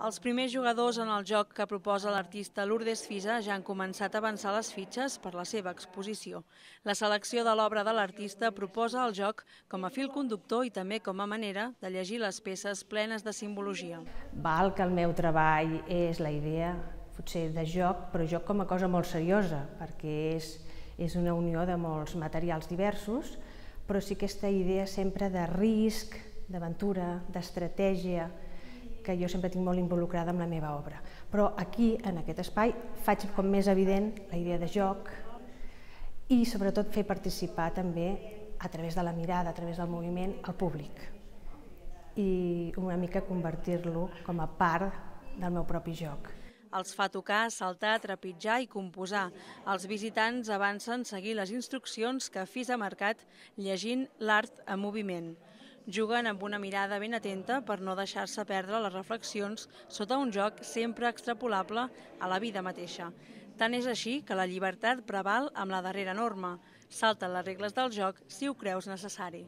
Els primers jugadors en el joc que proposa l'artista Lourdes Fisa ja han començat a avançar les fitxes per la seva exposició. La selecció de l'obra de l'artista proposa el joc com a fil conductor i també com a manera de llegir les peces plenes de simbologia. Val que el meu treball és la idea, potser de joc, però joc com a cosa molt seriosa, perquè és una unió de molts materials diversos, però sí aquesta idea sempre de risc, d'aventura, d'estratègia, que jo sempre tinc molt involucrada amb la meva obra. Però aquí, en aquest espai, faig com més evident la idea de joc i sobretot fer participar també, a través de la mirada, a través del moviment, al públic. I una mica convertir-lo com a part del meu propi joc. Els fa tocar, saltar, trepitjar i composar. Els visitants avancen seguir les instruccions que Fisa ha marcat llegint l'art en moviment. Juguen amb una mirada ben atenta per no deixar-se perdre les reflexions sota un joc sempre extrapolable a la vida mateixa. Tant és així que la llibertat preval amb la darrera norma. Salta les regles del joc si ho creus necessari.